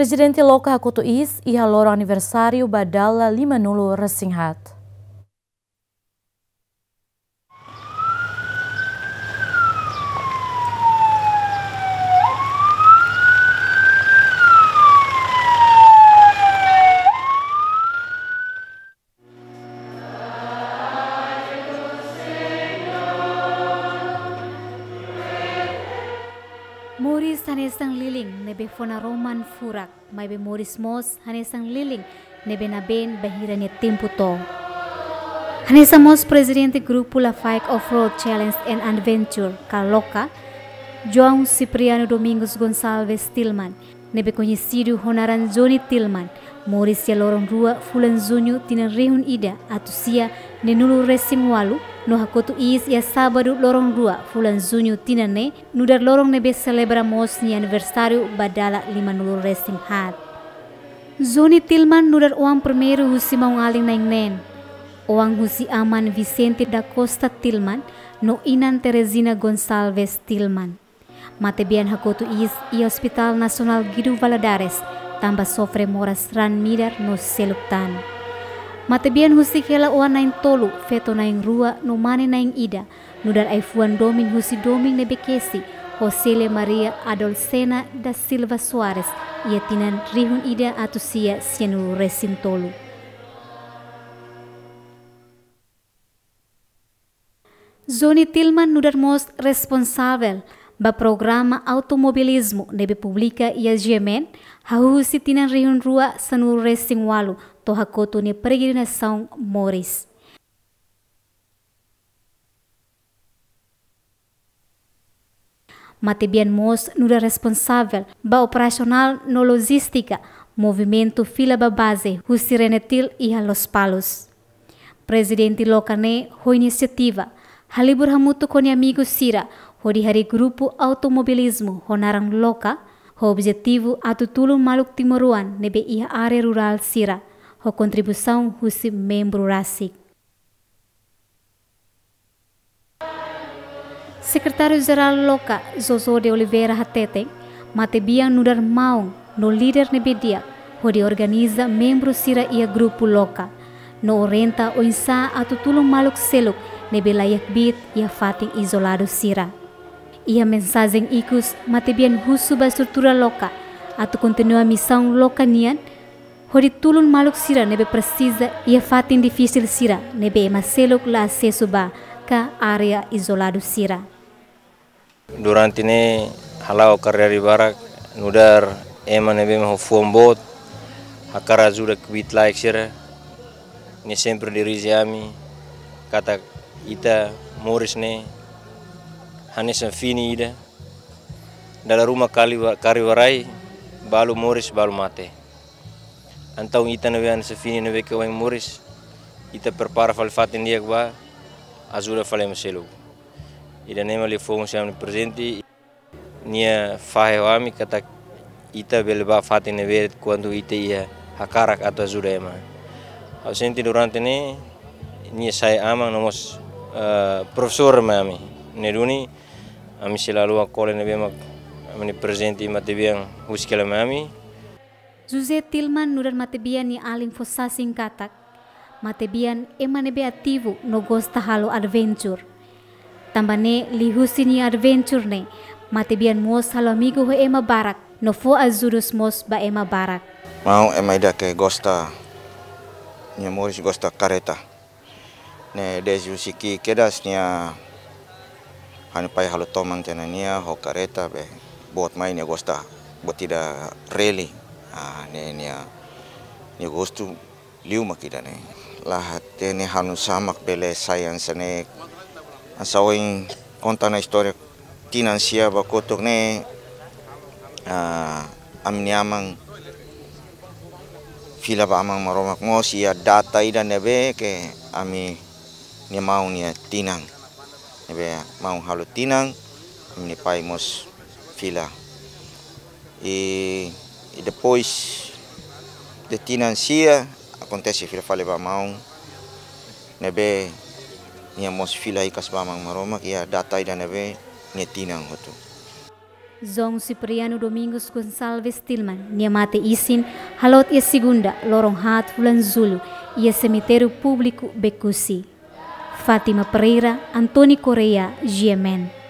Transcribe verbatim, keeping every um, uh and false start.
Prezidente Loka hakotu iis iha loron aniversáriu ba dala lima-nulu resin haat. Moris hanesan lilin ne'ebé fó naroman furak, maibé moris mós hanesan lilin ne'ebé nabeen bainhira nia tempu to'o. Hanesan mós prezidente grupu Lafaek Off-Road Challenge and Adventure, ka Loka, João Cipriano Domingos Gonçalves Tilman, ne'ebé koñesidu ho naran Johnny Tilman, moris iha loron rua fulan Juñu tinan rihun ida atus sia neenulu resin ualu, no hakotu iis iha sábadu loron rua fulan Juñu tinan ne'e, nu'udar loron ne'ebé selebra mós nia aniversáriu ba dala lima-nulu resin haat. Johnny Tilman nu'udar oan primeiru husi maun-alin na'in-neen. Oan husi aman Vicente da Costa Tilman no inan Teresina Gonçalves Tilman. Matebian hakotu iis iha Hospital Nasionál Guido Valadares, tanba sofre moras raan midar no seluk tan. Matebian husik hela oan na'in-tolu, feto na'in-rua no mane na'in-ida, nu'udar ai-fuan domin husi domin ne'ebé kesi, ho Célia Maria Adolcena da Silva Soares, iha tinan rihun ida atus sia sianulu resin tolu. Johnny Tilman nu'udar mós responsavel ba programa automobilizmu ne'ebé publika iha G M N, hahú husi tinan rihun rua sanulu resin ualu, to'o hakotu nia peregrinasaun moris. Matebian mós nu'udar responsavel ba operasionál no lojístika movimentu fila ba baze husi Renatil iha Lospalos. Prezidente Loka ne'e ho inisiativa, halibur hamutuk ho nia amigu sira, hodi harii grupu automobilizmu ho naran Loka, ho objetivu atu tulun maluk timoroan ne'ebé iha área rurál sira, ho kontribuisaun husi membru rasik. Sekretáriu Jerál Loka, Jojo de Oliveira hateten, matebian nu'udar maun no líder ne'ebé di'ak hodi organiza membru sira iha grupu Loka, no orienta oinsá atu tulun maluk seluk ne'ebé laiha kbiit iha fatin izoladu sira. Iha mensajen ikus, matebian husu ba estrutura Loka atu kontinua misaun Loka nian, hodi tulun maluk sira ne'ebé presiza iha fatin difisil sira ne'ebé ema seluk la asesu ba ka área izoladu sira. Durante ne'e hala'o karidade barak, nu'udar ema ne'ebé mak ho fuan boot, hakarak ajuda kbiit-laek sira, nia sempre dirije ami katak ita moris ne'e hanesan fini ida, dala ruma kali wa-, kari warai, balu moris, balu mate. Entaun ita ne'ebé hanesan fini ne'ebé ke ohin moris, ita prepara fali fatin di'ak ba ajuda fali ema seluk. Ida-ne'e mak liafuan husi ami prezidente, nia fahe ho ami katak ita bele ba fatin ne'ebé kuandu ita iha hakarak atu ajuda ema. Ha'u sente durante ne'e, nia sai aman no mós, eh, profesór mai ami. Ne'e duni, ami sei la haluha kole ne'ebé mak ami-nia prezidente matebian husik hela mai ami. José Tilman nu'udar matebian nia alin fó sasin katak, matebian ema ne'ebé ativu no gosta halo adventure. Tanba ne'e liuhusi nia adventure ne'e, matebian mós halo amigu ho ema barak, no fó ajudus mós ba ema barak. Maun ema ida ke gosta, nia moris gosta kareta. Ne'e dezde husi ki'ik kedas nia ha'u-nia pai halo toman tiha ona nia ho kareta be boot mai nia gosta buat ida rally. Ah, ne'e nia, nia gostu liu mak ida-ne'e. La hatene halo nusá mak bele sai hanesan ne'e. Hanesan ohin konta ona istória tinan sia ba kotuk ne'e, ah, ami-nia aman fila ba Aman Maromak mós iha data ida ne'ebé ke ami-nia maun nia tinan. Ne'ebé maun halo tinan, ami-nia pai mós fila. I, i depois de tinan sia, akontese fila fali ba maun. Ne'ebé nia mós fila hikas ba Aman Maromak iha data ida ne'ebé nia tinan hotu. João Cipriano Domingos Gonçalves Tilman nia mate isin haloot iha segunda, loron haat fulan Jullu, iha semitériu públiku Becusi. Fátima Pereira, António Correia, G M N.